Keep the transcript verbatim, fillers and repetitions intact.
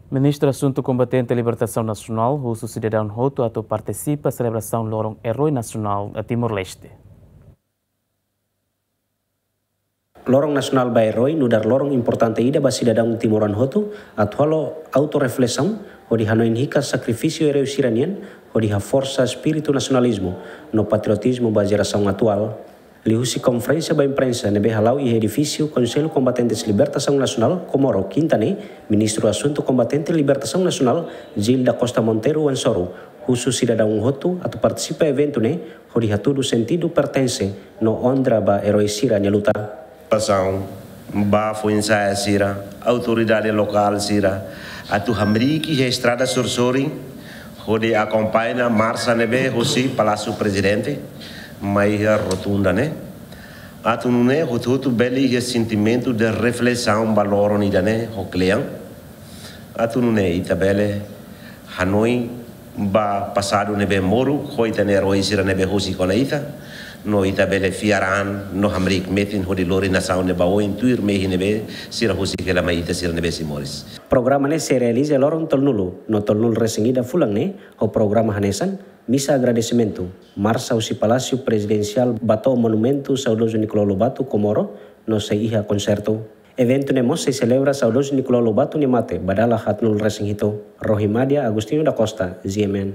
Ministru Asuntu Kombatente Libertasaun Nasionál husu sidadaun hotu atu partisipa selebrasaun Loron Eroi Nasionál Timor-Leste. Loron Nasionál ba Eroi nu'udar loron importante ida ba sidadaun timoroan hotu atu halo autorreflesaun hodi hanoin hikas sakrifísiu eroi sira-nian hodi haforsa espíritu nasionalizmu no patriotizmu ba jerasaun atuál. Liuhusi konferénsia ba imprensa ne'ebé hala'o iha edifísiu Konsellu Kombatentes Libertasaun Nasionál Komoro, Kinta ne'e, Ministru Asuntu Kombatente Libertasaun Nasionál, Gil da Costa Monteiro Wansoru, husu sidadaun hotu atu partisipa eventu ne'e hodi hatudu sentidu pertense no onra ba eroi sira-nia luta. Partisipasaun ba foin-sa'e sira, autoridade lokál sira, atu hamriik iha estrada sorin-sorin, hodi akompaña marsa ne'ebé husi Palásiu Prezidente mai iha rotunda ne'e. Atu nune'e hotu-hotu bele iha sentimentu de reflesaun ba loron ida-ne'e ho kle'an. Atu nune'e ita bele hanoin ba pasadu ne'ebé moru ho ita-nia eroi sira ne'ebé husik ona ita, no ita bele fiar an no hamriik metin hodi lori nasaun ne'e ba oin tuir mehi ne'ebé sira husik hela mai ita sira ne'ebé sei moris. Programa ne'e sei realiza loron tolunulu no tolunulu-resin-ida fulan ne'e ho programa hanesan misa agradesimentu, marsa husi Palásiu Prezidensiál ba to'o Monumentu Saudozu Nicolau Lobato Komoro no sei iha konsertu. Eventu ne'e mós sei selebra Saudozu Nicolau Lobato nia mate ba dala haatnulu-resin-hitu. Rohimadia Agostinho da Costa, G M N.